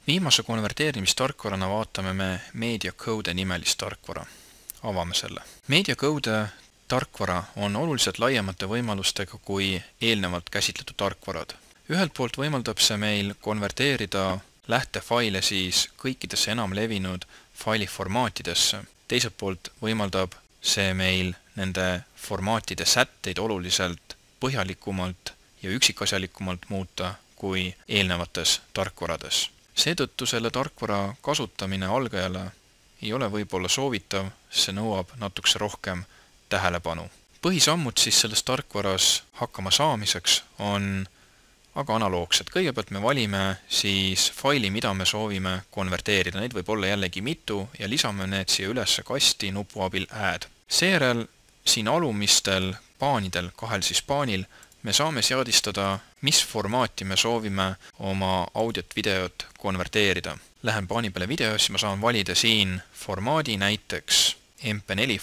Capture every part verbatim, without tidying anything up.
Viimase konverteerimistarkvarana vaatame me MediaCode nimelist tarkvara. Avame selle. MediaCode tarkvara on oluliselt laiemate võimalustega kui eelnevalt käsitletud tarkvarad. Ühelt poolt võimaldab see meil konverteerida lähtefaile siis kõikidesse enam levinud failiformaatidesse. Teiselt poolt võimaldab see meil nende formaatide sätteid oluliselt põhjalikumalt ja üksikasjalikumalt muuta kui eelnevates tarkvarades. Seetõttu selle tarkvara kasutamine algajale ei ole võib-olla soovitav, see nõuab natukese rohkem tähelepanu. Põhisammud siis selles tarkvaras hakkama saamiseks on aga analoogsed. Kõigepealt me valime siis faili, mida me soovime konverteerida. Neid võib olla jällegi mitu ja lisame need siia üles kasti nupu abil Add. Seejärel siin alumistel paanidel, kahel siis paanil, me saame seadistada, mis formaati me soovime oma audiot videot konverteerida. Lähen paani peale videos ja ma saan valida siin formaadi, näiteks M P neli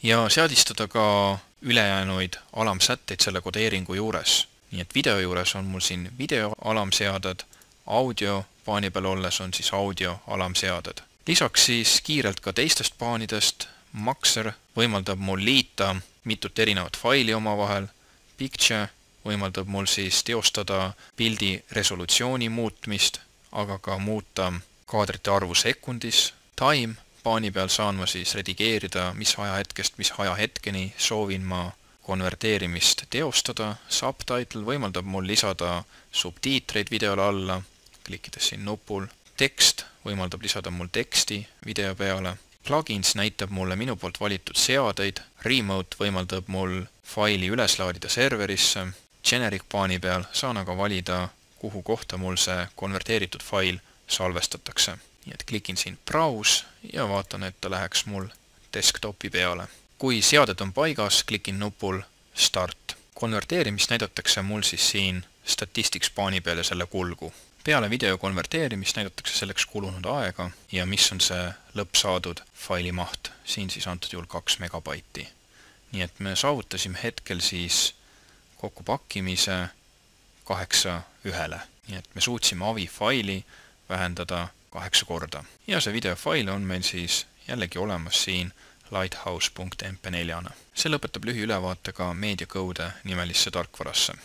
ja seadistada ka ülejäänuid alamsätteid selle kodeeringu juures. Nii et video juures on mul siin video alamseaded, audio paani peal olles on siis audio alamseaded. Lisaks siis kiirelt ka teistest paanidest Maxer võimaldab mul liita mitut erinevat faili omavahel. Picture võimaldab mul siis teostada pildi resolutsiooni muutmist, aga ka muuta kaadrite arvu sekundis. Time paani peal saan ma siis redigeerida, mis ajahetkest, mis ajahetkeni soovin ma konverteerimist teostada. Subtitle võimaldab mul lisada subtiitreid videole alla, klikkides siin nupul. Tekst võimaldab lisada mul teksti video peale. Plugins näitab mulle minu poolt valitud seadeid. Remote võimaldab mul faili üles laadida serverisse. Generic paani peal saan aga valida, kuhu kohta mul see konverteeritud fail salvestatakse. Nii et klikin siin Browse ja vaatan, et ta läheks mul desktopi peale. Kui seaded on paigas, klikin nupul Start. Konverteerimist näidatakse mul siis siin Statistics paani peal ja selle kulgu. Peale video konverteerimist näidatakse selleks kulunud aega ja mis on see lõppsaadud faili maht. Siin siis antud juhul kaks megabaiti. Nii et me saavutasime hetkel siis kokkupakkimise kaheksa ühele. Nii et me suutsime A V I faili vähendada kaheksa korda. Ja see videofail on meil siis jällegi olemas siin lighthouse punkt M P neli. See lõpetab lühiülevaate ka MediaCode nimelisse tarkvarasse.